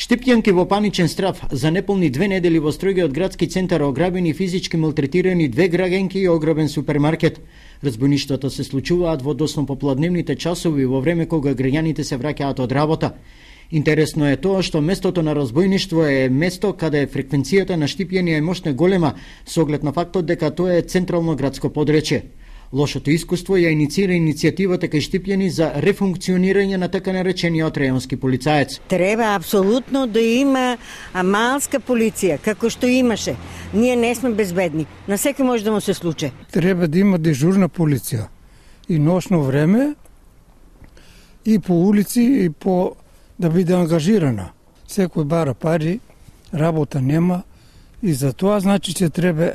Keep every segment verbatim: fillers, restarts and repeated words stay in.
Штипјанки во паничен страв за неполни две недели во стројгиот градски центар ограбени и физички малтретирани две граѓанки и ограбен супермаркет. Разбойништвата се случуваат во досно попладневните часови во време кога граѓаните се враќаат од работа. Интересно е тоа што местото на разбойништво е место каде фреквенцијата на штипјани е мощно голема со оглед на фактот дека тоа е централно градско подречје. Лошото искуство ја инициира иницијативата кај штипјани за рефункционирање на така наречениот реонски полицаец. Треба апсолутно да има малска полиција, како што имаше. Ние не сме безбедни. На секој може да му се случи. Треба да има дежурна полиција и ношно време и по улици и по да биде ангажирана. Секој бара пари, работа нема и за тоа значи че треба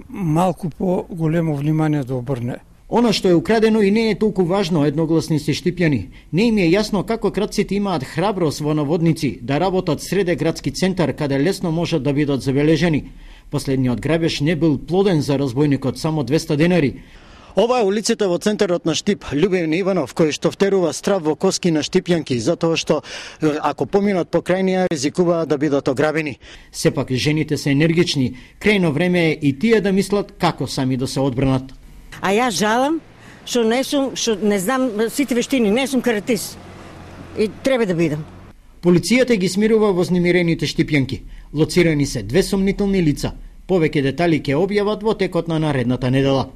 малку по-големо внимание да обрне. Она што е украдено и не е толку важно, едногласни се штипјани. Не им е јасно како крадците имаат храброст во наводници да работат среде градски центар каде лесно можат да бидат забележени. Последниот грабеж не бил плоден за разбойникот, само двеста денари. Ова е улицата во центарот на Штип, Љубевни Иванов, кој што втерува страв во коски на штипјанки, затоа што ако поминат покрај неа ризикуваат да бидат ограбени. Сепак жените се енергични, крајно време е и тие да мислат како сами да се одбранат. А ја жалам што не сум, што не знам сите вештини, не сум каратист. И треба да бидам. Полицијата ги смирува вознемирените штипјанки. Лоцирани се две сомнителни лица. Повеќе детали ќе објават во текот на наредната недела.